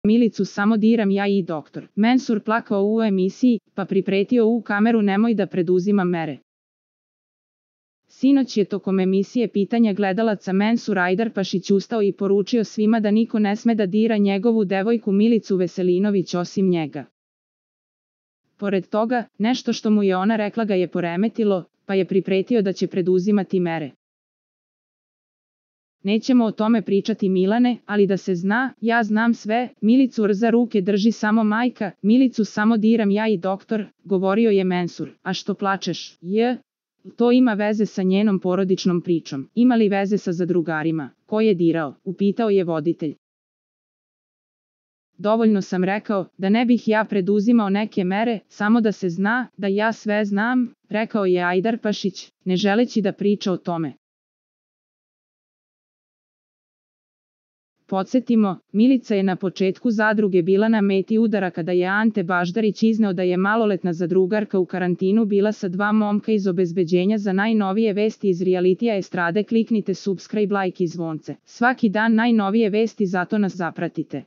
Milicu samo diram ja i doktor. Mensur plakao u emisiji, pa pripretio u kameru nemoj da preduzimam mere. Sinoć je tokom emisije pitanja gledalaca Mensur Ajdarpašić ustao i poručio svima da niko ne sme da dira njegovu devojku Milicu Veselinović osim njega. Pored toga, nešto što mu je ona rekla ga je poremetilo, pa je pripretio da će preduzimati mere. Nećemo o tome pričati Milane, ali da se zna, ja znam sve, Milicu za ruke drži samo majka, Milicu samo diram ja i doktor, govorio je Mensur. A što plačeš? To ima veze sa njenom porodičnom pričom. Ima li veze sa zadrugarima? Ko je dirao? Upitao je voditelj. Dovoljno sam rekao, da ne bih ja preduzimao neke mere, samo da se zna, da ja sve znam, rekao je Ajdarpašić, ne želeći da priča o tome. Podsjetimo, Milica je na početku zadruge bila na meti udara kada je Ante Baždarić izneo da je maloletna zadrugarka u karantinu bila sa 2 momka iz obezbeđenja. Za najnovije vesti iz realitija estrade kliknite subscribe, like i zvonce. Svaki dan najnovije vesti, zato nas zapratite.